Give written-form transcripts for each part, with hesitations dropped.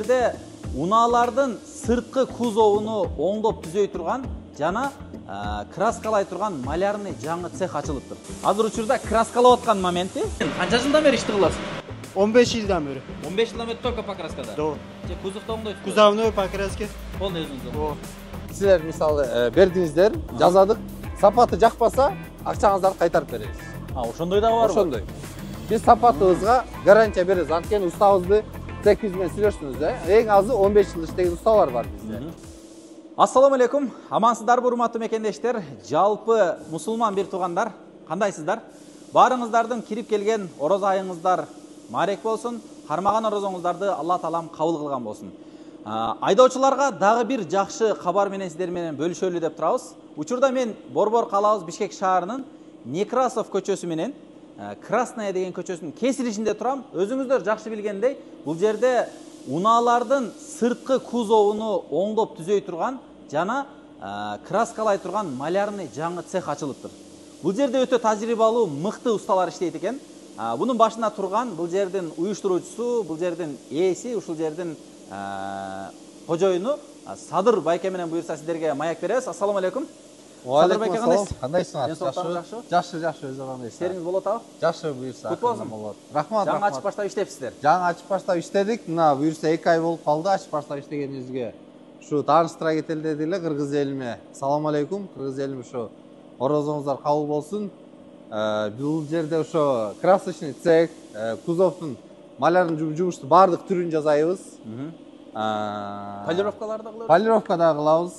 жерде унаалардын сырткы кузовуну оңдоп түзөй турган жана краскалай турган малярный жаңы цех ачылыптыр. Азыр учурда краскалап аткан моменти. Канча жылдан бери ишти кыласың? 15 жылдан бери. 15 жылдан бери только покраскада? Да. Же кузовду оңдойсуз? Кузовной покраска. Полный өзүңүз. Силер мисалы бердиңиздер, жазадык. Сапаты жакпаса, акчаңыздарды кайтарып беребиз. Ошондой дагы барбы? Ошондой. Биз сапатыбызга гарантия беребиз. Анткени устабызды цехибиз менен сүйлөштүңүз, эң азы 15 жыл иштеген усталар бар бизде. Ассаламу алейкум. Амансыздарбы, урматтуу мекендештер, жалпы мусулман бир туугандар, кандайсыздар? Баарыңыздардын кирип келген ороз айыңыздар марек болсун, кармаган орозоңуздарды Алла таалам кабыл кылган болсун. Айдоочуларга дагы бир жакшы кабар менен сиздер менен бөлүшөлү деп турабыз. Учурда мен Борбор калабыз Бишкек шаарынын Некрасов көчөсү менен Красная деген көчөсүнүн кесилишинде турам. Өзүңүздөр жакшы билгендей, бул жерде унаалардын сырткы кузовуну оңдоп түзөй турган жана краскалай турган малярный жаңы цех ачылыптыр. Бул жерде өтө тажрыйбалуу, мыкты усталар иштейт экен. Бунун башында турган бул жердин уюштуруучусу, бул жердин ээси, ушул жердин кожоюну Садыр байке менен буюрса сиздерге маяк беребиз. Ассаламу алейкум. Садыр байке кандайсыз? Кандайсыңар? Жакшы, өзү кандайсыз? Иштериңиз болуп атабы? Жакшы буюрса. Кут болсун. Рахмат. Жаңы ачып баштап иштепсиздер. Жаңы ачып баштап иштедик. Мына буюрса 2 ай болуп калды ачып баштап иштегенибизге. Ушу тааныштыра кетели деди эле кыргыз элиме. Ассаламу алейкум. Кыргыз элим ушу орозоңуздар кабыл болсун. Бул жерде ошо красочный цех, кузовдун малярный жумушту баардык түрүн жасайбыз. Полировкаларды кылабыз. Полировка да кылабыз.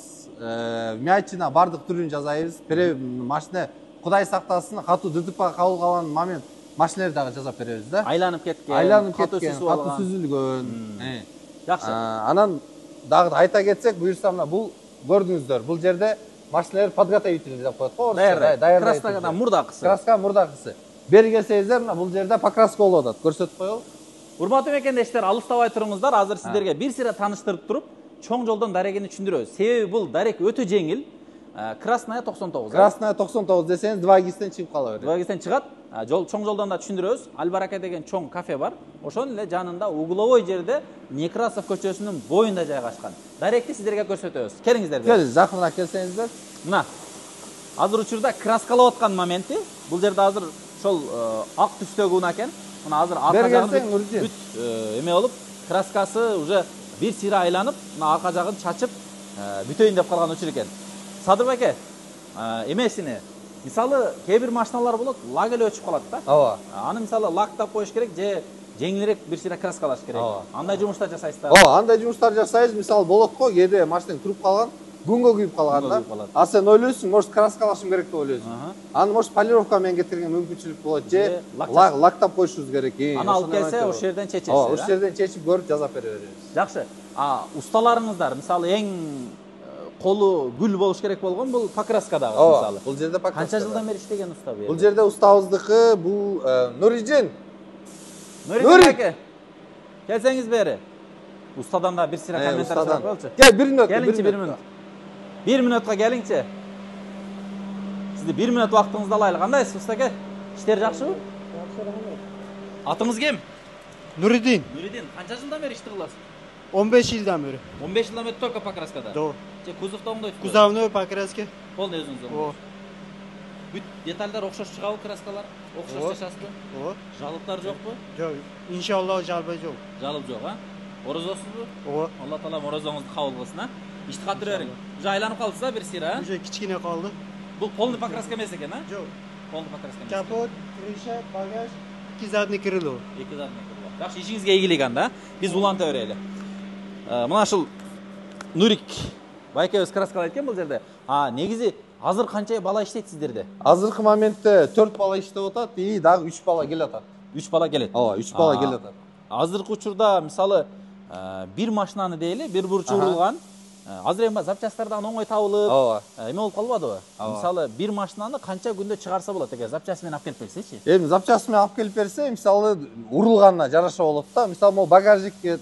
Мячина баардык түрүн жасайбыз. Машина Кудай сактасын, катуу ДТП кабыл калган момент машиналарды дагы жасап беребиз да. Айланып кеткен, катуу сүзүлгөн. Жакшы. Анан дагы айта кетсек, буюрса мына бул көрдүңүздөр. Бул жерде машиналар подготовительный деп коет го. Краскадан мурдакысы. Краска мурдакысы. Бери келсеңиздер, мына бул жерде покраска болуп атат. Көрсөтүп коелу. Урматтуу мекендештер, алыстабай туруңуздар. Азыр сиздерге бир сыйра тааныштырып туруп, чоң жолдон дарегини түшүндүрөбүз. Себеби бул дарек өтө жеңил. Красная 99. Красная 99 десеңиз 2 чыгып кала берет. 2 чыгат. Чоң жолдон да түшүндүрөбүз. Албарака деген чоң кафе бар. Ошонун эле жанында угловой жерде Некрасов көчөсүнүн боюнда жайгашкан. Даректи сиздерге көрсөтөбүз. Келиңиздер. Келиңиз, жакыныраак келсеңиздер. Мына. Азыр учурда краскалап аткан моменти. Бул жерде азыр ошол ак түстөгү уна экен. Мына азыр арка жагын бүт эме болуп, краскасы уже бир сыйра айланып, мына арка жагын чачып, бүтөйүн деп калган учур экен. Садыр байке, эмесини, мисалы, кээ бир машиналар болот, лак эле өчүп калат да. Ооба. Аны мисалы лактап коюш керек же жеңилирээк бир сыйра краскалаш керек. Андай жумуштар жасайсыздар. Ооба, андай жумуштар жасайбыз. Мисалы болот го, кээде машина туруп калган, күнгө күйүп калган да. А сен ойлойсуң, может краскалашым керек деп ойлойсуң. Аны может полировка менен кетирген мүмкүнчүлүк болот же лактап коюшубуз керек. Аны алып келсе, ошол жерден чечесиз. Ооба, ошол жерден чечип көрүп жазап бере беребиз. Жакшы. Усталарыңыздар, мисалы эң колу гүл болуш керек болгон бул покраскадагы мисалы. Бул жерде покраска. Канча жылдан бери иштеген уста бу? Бул жерде устабыздыкы бул Нуридин. Нуридин аке. Келсеңиз бери. Устадан да бир сыйра комментарий сурап коелучу. Кел, 1 мүнөт. Келиңчи 1 мүнөт. 1 мүнөткө келиңчи. Сизди 1 мүнөт убактыңызды алайлы. Кандайсыз уста аке? Иштер жакшыбы? Жакшы, рахмат. Атыңыз кем? Нуридин. Нуридин, канча жылдан бери ишти кыласыз? 15 жылдан бери. 15 жылдан бери только покраскада? Да. Же кузовду оңдойсуз? Кузовной покраска. Полный өзүңүз оңдойсуз. Бүт детальдар окшош чыгабы, краскалар? Окшош жашасызбы? Ооба. Жалыптар жокпу? Жок. Иншалла жалба жок. Жалып жок, Орозосузбу? Ооба. Алла таала орозоңузду кабыл кылсын, Ишти катыр бериң. Уже айланып калдыңыз бир сыйра, Уже кичкене калды. Бул полный покраска эмес экен, Жок. Полный покраска эмес. Капот, крыша, багаж, 2 задний крыло. 2 задний крыло. Жакшы, ишиңизге ийгилик анда. Биз уланта берели. Мына ушул Нурик байкебиз краскалайт экен бул жерде. Негизи азыр канча бала иштейт сиздерде? Азыркы моментте 4 бала иштеп атат и дагы 3 бала келе атат. 3 бала келет. Ооба, 3 бала келе атат. Азыркы учурда мисалы бир машинаны дейли, бир бурчу урулган. Азыр эми запчастардан оңой табылып, эме болуп калбадыбы? Мисалы бир машинаны канча күндө чыгарса болот экен, запчасы менен алып келип берсечи? Эми запчасы менен алып келип берсе, мисалы урулганына жараша болот да. Мисалы могу багажникке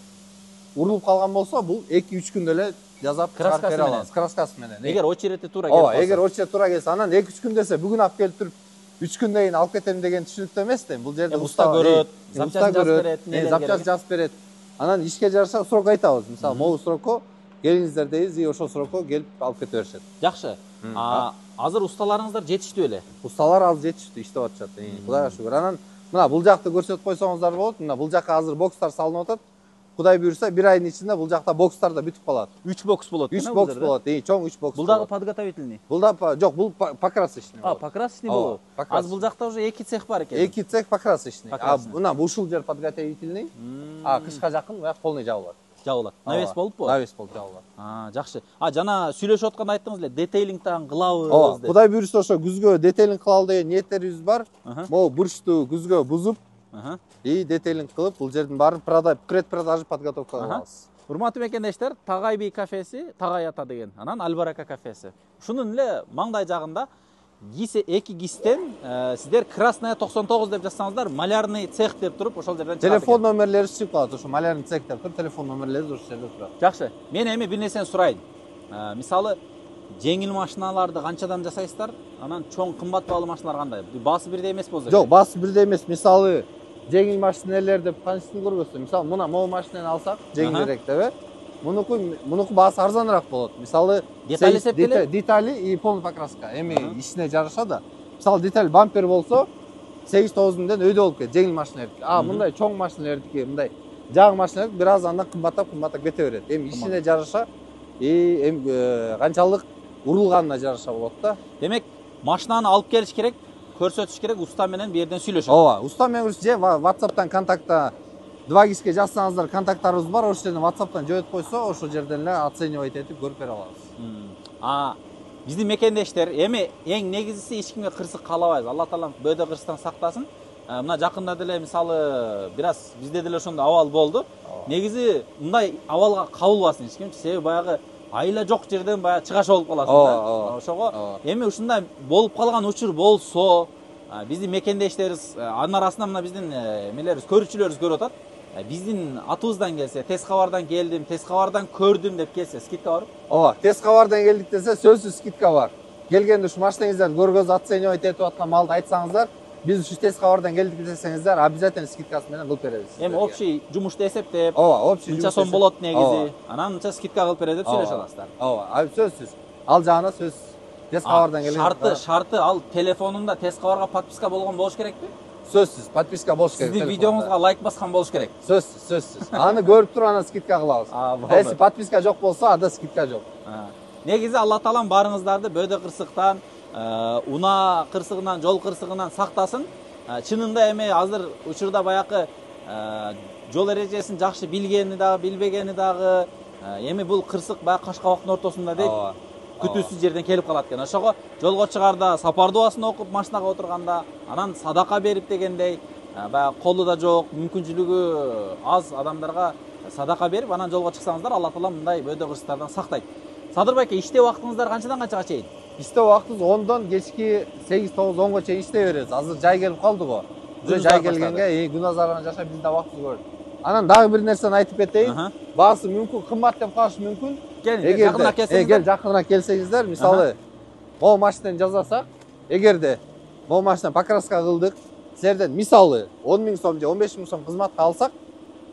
урулуп калган болсо, бул 2-3 күндө эле жазап чыгарып бере алабыз. Краскасы менен. Эгер очерети туура келсе. Ооба, эгер очерети туура келсе, анан 2-3 күн десе, бүгүн алып келип туруп 3 күндөн кийин алып кетем деген түшүнүктүү эмес да. Бул жерде уста көрөт, запчасын жазып берет, запчасын жазып берет. Анан ишке жараша срок айтабыз. Мисалы, могу срокко келиңиздер дейбиз, и ошол срокко келип алып кете беришет. Жакшы. Азыр усталарыңыздар жетиштүү эле. Усталар азыр жетиштүү, иштеп атышат. Кудайга шүгүр. Анан мына бул жакты көрсөтүп койсоңуздар болот. Мына бул жакка азыр бокстар салынып атат. Кудай буйрса, 1 айдын ичинде бул жакта бокстар да бүтүп калат. 3 бокс болот. 3 бокс болот. Чоң 3 бокс. Бул дагы подготовительный. Бул да жок, бул покрасочный. Покрасочный болот. Азыр бул жакта уже 2 цех бар экен. 2 цех покрасочный. Мына ушул жер подготовительный. Кышка жакын буяк полный жабылат. Жабылат. Навес болуппу? Навес болуп жабылат. Жакшы. Жана сүйлөшүп атканда айттыңыз эле, детейлинг тагын кылабыз деп. Кудай буйрса ошо күзгө детейлинг кылалы деген ниеттерибиз бар. Могу бурчту күзгө бузуп, и детейлинг кылып, бул жердин баарын предпродажа подготовка кылабыз. Урматтуу мекендештер, Tagay би кафеси, Tagay ата деген, анан Альбарака кафеси. Ушунун эле маңдай жагында 2 гистен сиздер Красная 99 деп жазсаңыздар, малярный цех деп туруп, ошол жерден чыгат. Телефон номерлери чыгып калат, ошо малярный цех деп туруп, телефон номерлери ошол жерде турат. Жакшы. Мен эми бир нерсени сурайын. Мисалы, жеңил машиналарды канчадан жасайсыздар? Анан чоң кымбат баалуу машиналар кандай? Баасы бирдей эмес болсо? Жок, баасы бирдей эмес. Мисалы, жеңил машинелер деп кантиптин көрбөсүң. Мисалы, мына могу машинени алсак, жеңилирээк деп, мунуку баасы арзаныраак болот. Мисалы, детали и полный покраска. Эми ишине жараша да. Мисалы, деталь бампер болсо 8-9 миңден өйдө болуп кетет жеңил машинелердики. Мындай чоң машинелердики, мындай жаң машинелер бир аз андан кымбаттап кете берет. Эми ишине жараша канчалык урулганына жараша болот да. Демек, машинаны алып келиш керек, көрсөтүш керек, уста менен бир жерден сүйлөшөт. Ооба, уста менен же WhatsApp'тан контактта 2 кишиге жазсаңыздар, контакттарыбыз бар, ошол жерден WhatsApp'тан жөнөтүп койсо, ошол жерден эле оценивать этип көрүп бере алабыз. Биздин мекендештер эми эң негизгиси эч кимге кырсык каалабайбыз. Алла таалам бөөдө кырсыктан сактасын. Мына жакында деле мисалы бир аз бизде деле ошондой абал болду. Негизи мындай абалга кабылбасын эч ким, себеби баягы айла жок жерден баягы чыгаша болуп каласың да. Ошого эми ушундай болуп калган учур болсо, биздин мекендештерибиз анын арасында мына биздин эмелерибиз, көрүүчүлөрүбүз көрүп атат. Биздин атыбыздан келсе, тез кабардан келдим, тез кабардан көрдүм деп келсе, скидка барбы? Ооба, тез кабардан келдик десе, сөзсүз скидка бар. Келгенде ушу машинаңыздарды көргөзүп оценивать этип аткан малды айтсаңыздар, биз ушу тез кабардан келдик десеңиздер, обязательно скидкасы менен кылып беребиз. Эми общий жумушту эсептеп, ооба, общий мынча сом болот негизи, анан мынча скидка кылып берет деп сүйлөшө аласыздар. Ооба, сөзсүз. Ал жагына сөз. Тез кабардан келген. Шарты ал телефонунда тез кабарга подписка болгон болуш керекпи? Сөзсүз, подписка болуш керек. Сиздин видеоңузга лайк баскан болуш керек. Сөзсүз. Аны көрүп туруп анан скидка кылабыз. Если подписка жок болсо, анда скидка жок. Негизи Алла таалам баарыңыздарды бөөдө кырсыктан, унаа кырсыгынан, жол кырсыгынан сактасын. Чынында эми азыр учурда баягы жол эрежесин жакшы билгени дагы, билбегени дагы, эми бул кырсык баягы Кашкабактын ортосунда дейт. Күтүүсүз жерден келип калат экен. Ошого жолго чыгарда, сапар дуасын окуп машинага отурганда, анан садака берип дегендей, баягы колу да жок, мүмкүнчүлүгү аз адамдарга садака берип, анан жолго чыксаңыздар, Алла таалам мындай бөөдө кырсыктардан сактайт. Садыр байке, иштөө убактыңыздар канчадан канчага чейин? Иштөө убактыбыз 10дон кечки 8-9-10го чейин иштей беребиз. Азыр жай келип калды го. Жай келгенге күн азарынан жашап биз да убактыбыз көрдүк. Анан дагы бир нерсени айтып кетейин. Баасы мүмкүн кымбат деп калышы мүмкүн. Жакыныраак келсеңиздер. Жакыныраак келсеңиздер, мисалы, могу машинени жасасак, эгерде могу машина покраска кылдык, силерден мисалы 10 000 сом же 15 000 сом кызматка алсак,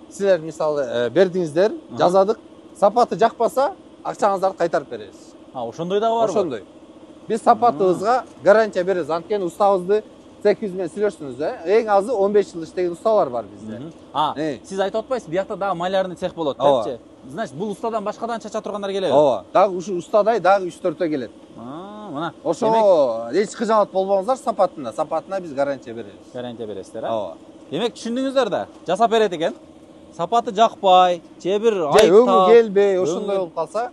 силер мисалы бердиңиздер, жазадык, сапаты жакпаса, акчаңыздарды кайтарып беребиз. Ошондой дагы барбы? Ошондой. Биз сапатыбызга гарантия беребиз. Анткени устабызды цехибиз менен сүйлөштүңүз, эң азы 15 жыл иштеген усталар бар бизде. Сиз айтып атпайсызбы, биякта дагы малярный цех болот депчи? Значит, бул устадан башкадан чача тургандар келеби? Ооба. Дагы ушу устадай дагы 3-4төө келет. Мына. Ошо эч кыжаат болбоңуздар сапатына биз гарантия беребиз. Гарантия бересиздер, а? Ооба. Демек түшүндүңүздөр да, жасап берет экен. Сапаты жакпай, же бир айыптап, өңү келбей, ошондой болуп калса,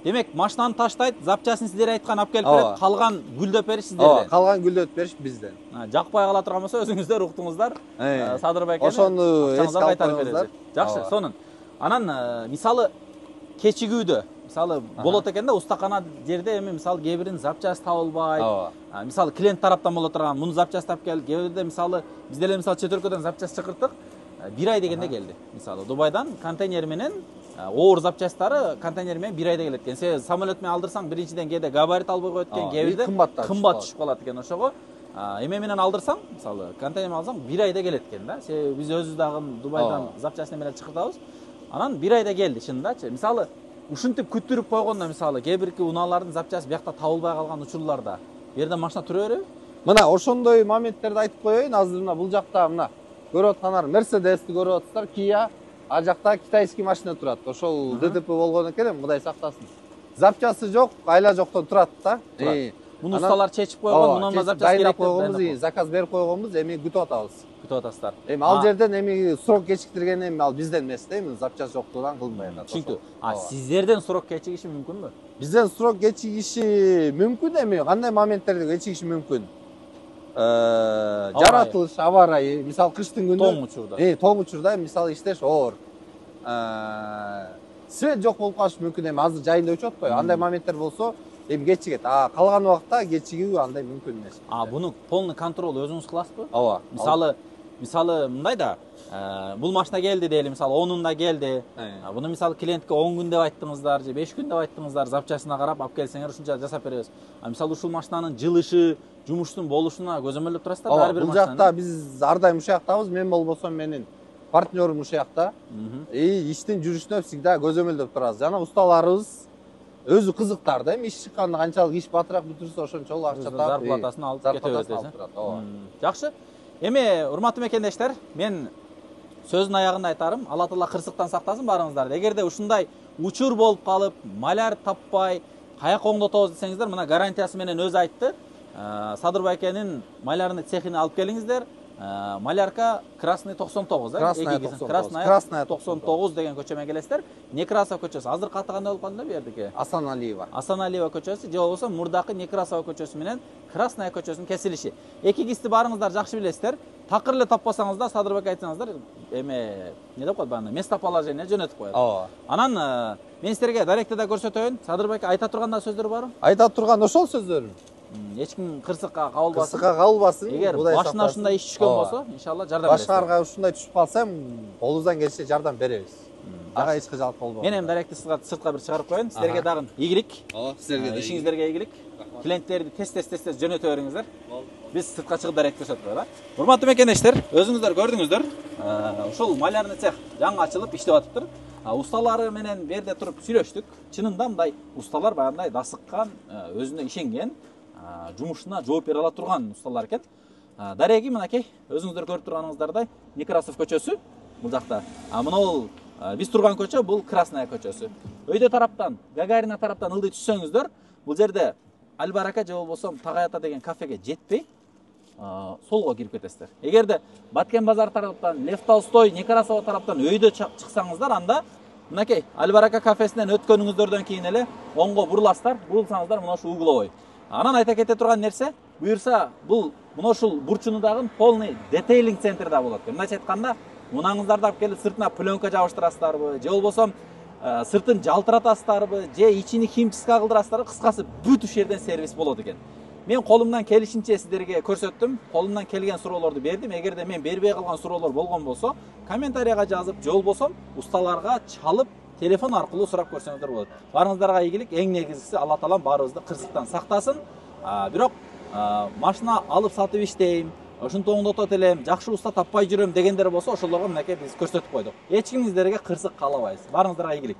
демек машинаны таштайт, запчасын сиздер айткан алып келип берет, калган гүлдөп бериш сиздерден. Ооба, калган гүлдөп бериш бизден. Жакпай кала турган болсо өзүңүздөр уктуңуздар. Садыр байкени ошону эске алып койуңуздар. Жакшы, сонун. Анан мисалы кечигүүдө, мисалы болот экен да, устакана жерде эми мисалы кээ биринин запчасы табылбайт. Мисалы клиент тараптан боло турган, муну запчасы таап кел, кээ бирде мисалы биз деле мисалы чет өлкөдөн запчасы чакырттык. 1 ай дегенде келди. Мисалы Дубайдан контейнер менен оор запчастары контейнер менен 1 айда келет экен. Сен самолет менен алдырсаң биринчиден кээде габарит албай коет экен, кээ бирде кымбат түшүп калат экен. Ошого эме менен алдырсаң, мисалы, контейнер алсаң 1 айда келет экен да. Себеби биз өзүбүз дагы Дубайдан запчастьны менен чыкыртабыз. Анан 1 айда келди чындачы. Мисалы, ушинтип күттүрүп койгондо, мисалы, кээ бирки унаалардын запчасты биякта табылбай калган учурларда, бу жерде машина тура береби? Мына ошондой моменттерди айтып коеюн. Азыр мына бул жакта мына көрүп аткандар Mercedes'ти көрүп атсыздар, Kia, а жакта китайский машина турат. Ошол ДТП болгон экен, Кудай сактасын. Запчасты жок, айла жоктон турат да. Муну усталар чечип койгон, мунун запчасты керек деп заказ берип койгонбуз, эми күтүп атабыз. Күтүп атасыздар. Эми ал жерден эми срок кечиктирген эми ал бизден эмес да, эми запчасты жоктугунан кылынбай атат. Түшүнүктүү. Сиздерден срок кечигиши мүмкүнбү? Бизден срок кечигиши мүмкүн, эми кандай моменттерде кечигиши мүмкүн? Жаратылыш, аба ырайы, мисалы кыштын күнү тоң учурда. Тоң учурда мисалы иштеш оор. Свет жок болуп калышы мүмкүн, эми азыр жайында өчүп атпайбы? Андай моменттер болсо, эми кечигет. Калган убакта кечигүү андай мүмкүн эмес. Буну полный контрол өзүңүз кыласызбы? Ооба. Мисалы мындай да, бул машина келди дейли, мисалы 10-унда келди. Буну мисалы клиентке 10 күн деп айттыңыздар же 5 күн деп айттыңыздар, запчастына карап алып келсеңер ушунча жасап беребиз. Мисалы ушул машинанын жылышы, жумуштун болушуна көзөмөлдөп турасыздар ар бир машинаны. Бул жакта биз ар дайым ушул жактабыз. Мен болбосом менин партнерым ушул жакта. Иштин жүрүшүнө всегда көзөмөлдөп турабыз. Жана усталарыбыз өзү кызыктар да, эми иш чыкканда канчалык иш батыраак бүтүрсө ошончолук акча таап, зарплатасын алып кете берет. Жакшы. Эми урматтуу мекендештер, мен сөздүн аягында айтарым, Алла Таала кырсыктан сактасын баарыңыздарды. Эгерде ушундай учур болуп калып, маляр таппай, каяка оңдотобуз десеңиздер, мына гарантиясы менен өзү айтты. Садыр байкенин малярный цехине алып келиңиздер. Малярка Красный 99, Красная 99 деген көчөмө келесиздер. Некрасов көчөсү. Азыркы аты кандай болуп калды бу жердики? Асаналиева көчөсү же болбосо мурдакы Некрасова көчөсү менен Красная көчөсүнүн кесилиши. Эки кисти барыңыздар жакшы билесиздер. Такыр эле таппасаңыздар, Садыр байке айтсаңыздар, эме эмне деп коет бааны, местоположение жөнөтүп коет. Анан мен силерге даректеде көрсөтөйүн. Садыр байке айта турган сөздөр барбы? Айта турган ошол сөздөр. Эч ким кырсыкка кабылбасын. Кырсыкка кабылбасын. Эгер башына ушундай иш түшкөн болсо, иншалла жардам бересиз. Башкарга ушундай түшүп калса, колубуздан келишинче жардам беребиз. Ага эч кыжалык болбойт. Мен эми даректи сыртка бир чыгарып коеюн. Силерге дагы ийгилик. Силерге да ишиңиздерге ийгилик. Клиенттерди тез жөнөтө бериңиздер. Биз сыртка чыгып дарект көрсөтөп коелу. Урматтуу мекендештер, өзүңүздөр көрдүңүздөр. Ушул малярный цех жаңы ачылып иштеп атыптыр. Усталары менен берде туруп сүйлөштүк. Чынында мындай усталар баягындай дасыккан, өзүнө ишенген, жумушуна жооп бере ала турган усталар экен. Дареги мынакей, өзүңүздөр көрүп турганыңыздардай Некрасов көчөсү бул жакта. Мына биз турган көчө бул Красная көчөсү. Өйдө тараптан, Гагарина тараптан ылдый түшсөңүздөр, бул жерде Албарака же болбосо Тагаята деген кафеге жетпей, солго кирип кетесиздер. Эгерде Баткен базар тараптан, Лев Толстой, Некрасова тараптан өйдө чыксаңыздар, анда мынакей Албарака кафесинен өткөнүңүздөрдөн кийин эле оңго буруласыздар, бурулсаңыздар мына ушул угловой. Анан айта кете турган нерсе, буюрса бул мына ушул бурчунудагы полный детейлинг центрда болот. Мындайча айтканда, унаңыздарды алып келип сыртына пленка жабыштырасыздарбы, же болбосо сыртын жалтыратасыздарбы, же ичини химчистка кылдырасыздарбы, кыскасы бүт ушул жерден сервис болот экен. Мен колумдан келишинче сиздерге көрсөттүм, колумдан келген суроолорду бердим. Эгерде мен бербей калган суроолор болгон болсо, комментарийга жазып, же болбосо усталарга чалып, телефон аркылуу сурап көрсөңүздөр болот. Барыңыздарга ийгилик, эң негизгиси Алла Таалам баарыбызды кырсыктан сактасын. Бирок машина алып сатып иштейм, ушинтип оңдотот элем, жакшы уста таппай жүрөм дегендер болсо, ошолорго мынакей биз көрсөтүп койдук. Эч кимиңиздерге кырсык каалабайбыз. Барыңыздарга ийгилик.